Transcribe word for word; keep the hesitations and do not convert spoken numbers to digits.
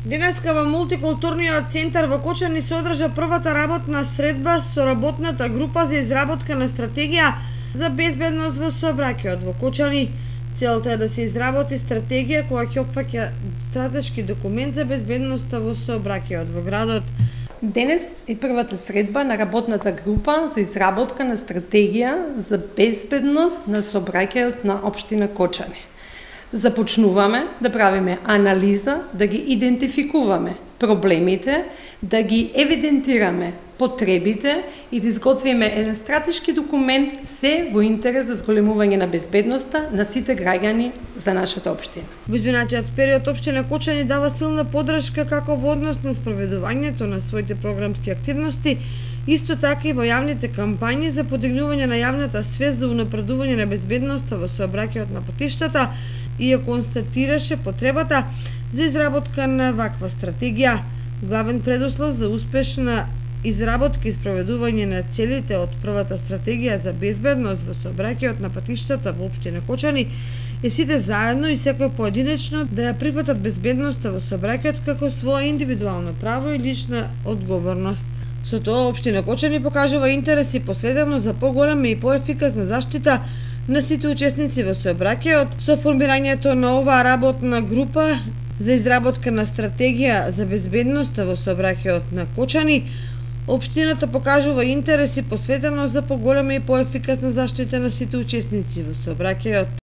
Денеска во мултикултурниот центар во Кочани се одржа првата работна средба со работната група за изработка на стратегија за безбедност во сообраќајот во Кочани. Целта е да се изработи стратегија која ќе опфаќа стратешки документ за безбедноста во сообраќајот во градот. Денес е првата средба на работната група за изработка на стратегија за безбедност на сообраќајот на општина Кочани. Започнуваме да правиме анализа, да ги идентификуваме проблемите, да ги евидентираме потребите и да изготвиме еден стратешки документ се во интерес за зголемување на безбедноста на сите граѓани за нашата општина. Во изминатиот период општина Кочани дава силна поддршка како во однос на спроведувањето на своите програмски активности, исто така и во јавните кампањи за подигнување на јавната свест за унапредување на безбедноста во сообраќајот на патиштата и ја констатираше потребата за изработка на ваква стратегија. Главен предуслов за успешна изработка и спроведување на целите од првата стратегија за безбедност во сообраќајот на патиштата во општина Кочани е сите заедно и секој поединечно да ја прифатат безбедноста во сообраќајот како своја индивидуално право и лична одговорност. Со тоа општина Кочани покажува интерес и посветеност за поголема и поефикасна заштита на сите учесници во сообраќајот. Со формирањето на оваа работна група за изработка на стратегија за безбедноста во сообраќајот на Кочани, општината покажува интерес и посветеност за поголема и поефикасна заштита на сите учесници во сообраќајот.